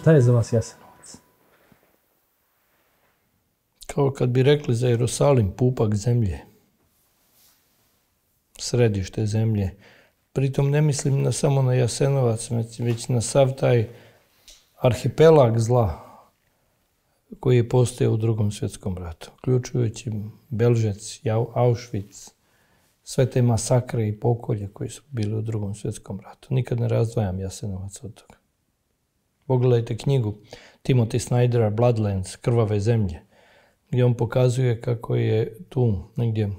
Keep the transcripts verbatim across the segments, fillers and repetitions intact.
Šta je za vas Jasenovac? Kao kad bi rekli za Jerusalim, pupak zemlje. Središte zemlje. Pritom ne mislim na, samo na Jasenovac, već na sav taj arhipelag zla koji je postojao u Drugom svjetskom ratu, uključujući Belžec, Auschwitz, sve te masakre i pokolje koji su bili u Drugom svjetskom ratu. Nikad ne razdvajam Jasenovac od toga. Pogledajte knjigu Timothy Snydera Bloodlands, Krvave zemlje, gdje on pokazuje kako je tu negdje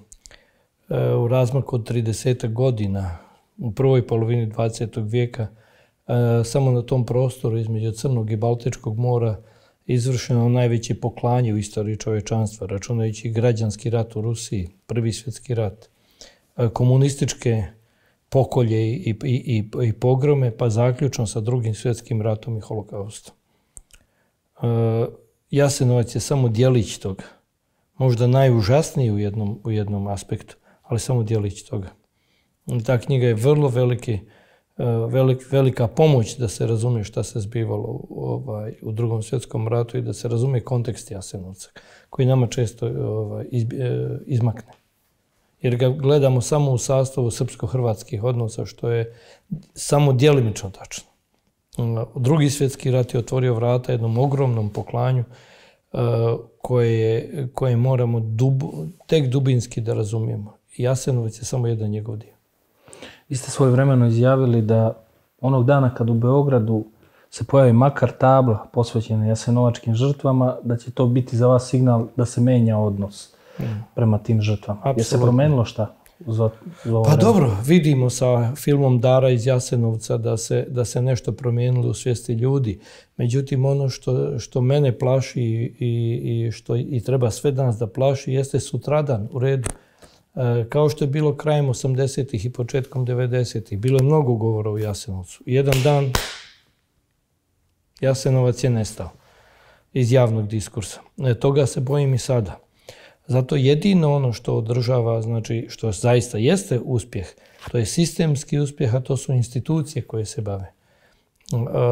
u razmaku od tridesetak godina u prvoj polovini dvadesetog vijeka samo na tom prostoru između Crnog i Baltičkog mora izvršeno najveće poklanje u istoriji čovječanstva, računajući građanski rat u Rusiji, Prvi svjetski rat, komunističke pokolje i, i, i, i pogrome, pa zaključno sa Drugim svjetskim ratom i holokaustom. Jasenovac je samo djelić toga, možda najužasniji u jednom, u jednom aspektu, ali samo djelić toga. Ta knjiga je vrlo veliki, velik, velika pomoć da se razumije šta se zbivalo ovaj, u Drugom svjetskom ratu i da se razumije kontekst Jasenovca, koji nama često ovaj, iz, izmakne. Jer ga gledamo samo u sastavu srpsko-hrvatskih odnosa, što je samo djelimično tačno. Drugi svjetski rat je otvorio vrata jednom ogromnom poklanju koje, koje moramo dub, tek dubinski da razumijemo. Jasenovac je samo jedan njegov dio. Vi ste svojevremeno izjavili da onog dana kad u Beogradu se pojavi makar tabla posvećena jasenovačkim žrtvama, da će to biti za vas signal da se menja odnos mm. prema tim žrtvama. Apsolutno. Je se promenilo šta? Za, za pa vreme? Dobro, vidimo sa filmom Dara iz Jasenovca da se, da se nešto promijenilo u svijesti ljudi. Međutim, ono što, što mene plaši i, i što i treba sve danas da plaši jeste sutradan u redu. E, kao što je bilo krajem osamdesetih i početkom devedesetih. Bilo je mnogo govora o Jasenovcu. Jedan dan Jasenovac je nestao iz javnog diskursa. E, toga se bojim i sada. Zato jedino ono što održava, znači što zaista jeste uspjeh, to je sistemski uspjeh, a to su institucije koje se bave.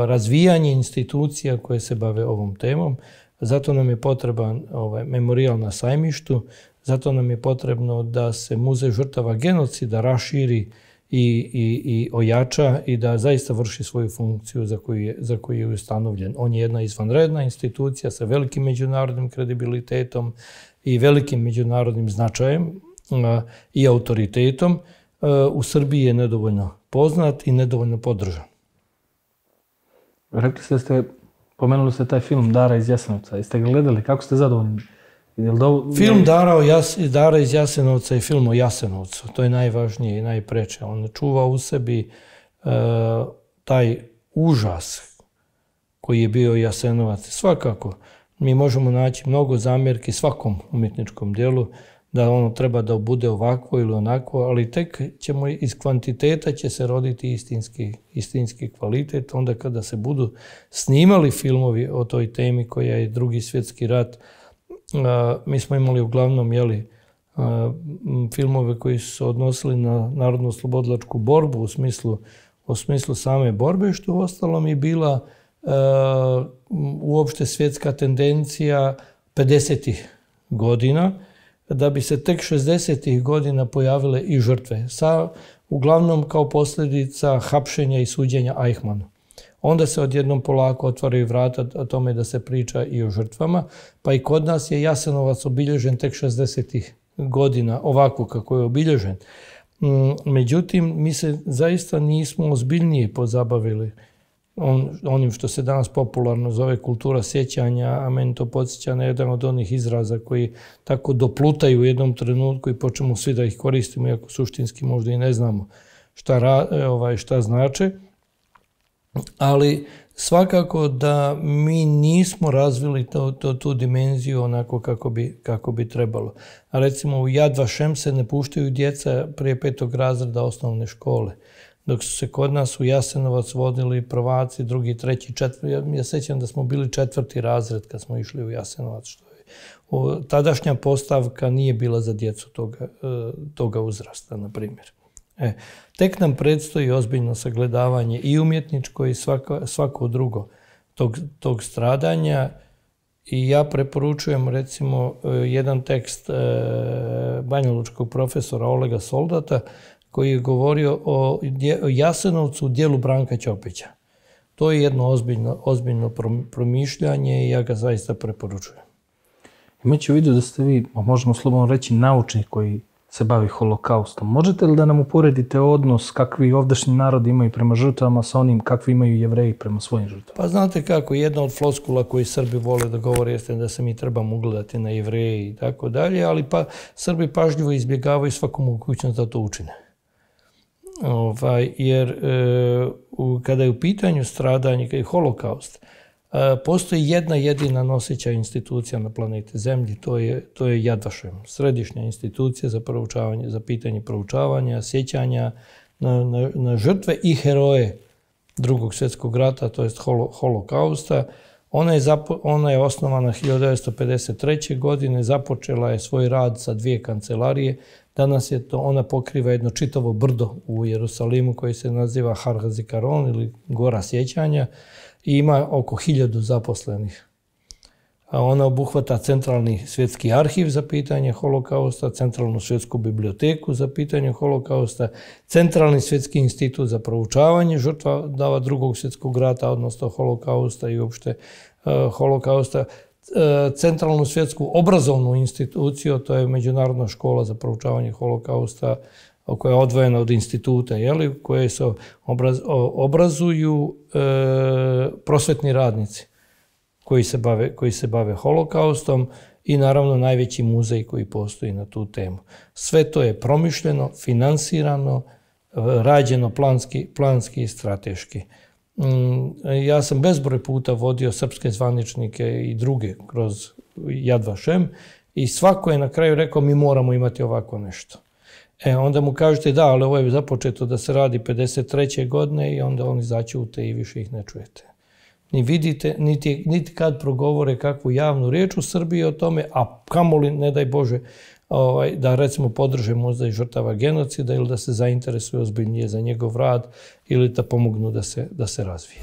Razvijanje institucija koje se bave ovom temom. Zato nam je potreban ovaj, memorijal na Sajmištu, zato nam je potrebno da se muzej žrtava genocida raširi i, i, i ojača i da zaista vrši svoju funkciju za koju je, za koju je ustanovljen. On je jedna izvanredna institucija sa velikim međunarodnim kredibilitetom i velikim međunarodnim značajem a, i autoritetom. A, u Srbiji je nedovoljno poznat i nedovoljno podržan. Rekli ste, ste pomenuli ste taj film Dara iz Jasenovca. Jeste ga gledali? Kako ste zadovoljni? Do... Film Dara, Jas, Dara iz Jasenovca je film o Jasenovcu. To je najvažnije i najpreče. On čuva u sebi uh, taj užas koji je bio Jasenovac. Svakako, mi možemo naći mnogo zamjerki svakom umjetničkom dijelu da ono treba da bude ovako ili onako, ali tek ćemo iz kvantiteta će se roditi istinski, istinski kvalitet. Onda kada se budu snimali filmovi o toj temi koja je Drugi svjetski rat, Uh, mi smo imali uglavnom jeli, uh, filmove koji su se odnosili na narodno-oslobodilačku borbu u smislu, u smislu same borbe, što u ostalom je bila uh, uopšte svjetska tendencija pedesetih godina, da bi se tek šezdesetih godina pojavile i žrtve, sa, uglavnom kao posljedica hapšenja i suđenja Eichmannu. Onda se odjednom polako otvaraju vrata o tome da se priča i o žrtvama, pa i kod nas je Jasenovac obilježen tek šezdesetih godina, ovako kako je obilježen. Međutim, mi se zaista nismo ozbiljnije pozabavili on, onim što se danas popularno zove kultura sjećanja, a meni to podsjeća na jedan od onih izraza koji tako doplutaju u jednom trenutku i počnemo svi da ih koristimo, iako suštinski možda i ne znamo šta, ovaj, šta znače. Ali svakako da mi nismo razvili to, to, tu dimenziju onako kako bi, kako bi trebalo. A recimo u Yad Vashem se ne puštaju djeca prije petog razreda osnovne škole. Dok su se kod nas u Jasenovac vodili prvaci, drugi, treći, četvrti. Ja, ja sećam da smo bili četvrti razred kad smo išli u Jasenovac. Što je, o, tadašnja postavka nije bila za djecu toga, toga uzrasta, na primjer. E, tek nam predstoji ozbiljno sagledavanje i umjetničko i svako, svako drugo tog, tog stradanja. I ja preporučujem recimo jedan tekst banjalučkog profesora Olega Soldata koji je govorio o Jasenovcu u dijelu Branka Ćopića. To je jedno ozbiljno, ozbiljno promišljanje i ja ga zaista preporučujem. Imajući u vidu da ste vi, možemo slobodno reći, naučnik koji se bavi holokaustom. Možete li da nam uporedite odnos kakvi ovdašnji narodi imaju prema žrtvama sa onim kakvi imaju Jevreji prema svojim žrtvama? Pa znate kako, jedna od floskula koji Srbi vole da govore jeste da se mi trebamo ugledati na Jevreje i tako dalje, ali pa Srbi pažljivo izbjegavaju svaku mogućnost da to učine. Ovaj, jer e, u, kada je u pitanju stradanje i holokaust, e, postoji jedna jedina noseća institucija na planeti Zemlji, to je, to je Yad Vashem, središnja institucija za, proučavanje, za pitanje proučavanja, sjećanja na, na, na žrtve i heroje Drugog svjetskog rata, to jest holo, holokausta. Ona je, zapo, ona je osnovana hiljadu devetsto pedeset treće. godine, započela je svoj rad sa dvije kancelarije. Danas je to, ona pokriva jedno čitavo brdo u Jerusalimu koji se naziva Har HaZikaron ili Gora sjećanja i ima oko hiljadu zaposlenih. A ona obuhvata Centralni svjetski arhiv za pitanje holokausta, Centralnu svjetsku biblioteku za pitanje holokausta, Centralni svjetski institut za proučavanje žrtava Drugog svjetskog rata, odnosno holokausta i uopšte uh, holokausta, Centralnu svjetsku obrazovnu instituciju, to je Međunarodna škola za proučavanje holokausta, koja je odvojena od instituta, jeli, koje se obraz, obrazuju e, prosvetni radnici koji se, bave, koji se bave holokaustom i naravno najveći muzej koji postoji na tu temu. Sve to je promišljeno, finansirano, rađeno planski, planski i strateški. Ja sam bezbroj puta vodio srpske zvaničnike i druge kroz Yad Vashem i svako je na kraju rekao mi moramo imati ovako nešto. E, onda mu kažete da, ali ovo je započeto da se radi pedeset treće. godine i onda oni začute i više ih ne čujete. Ni vidite, niti, niti kad progovore kakvu javnu riječ u Srbiji o tome, a kamoli, ne daj Bože, ovaj, da recimo podrže muzej žrtava genocida ili da se zainteresuju ozbiljnije za njegov rad ili da pomognu da se, da se razvije.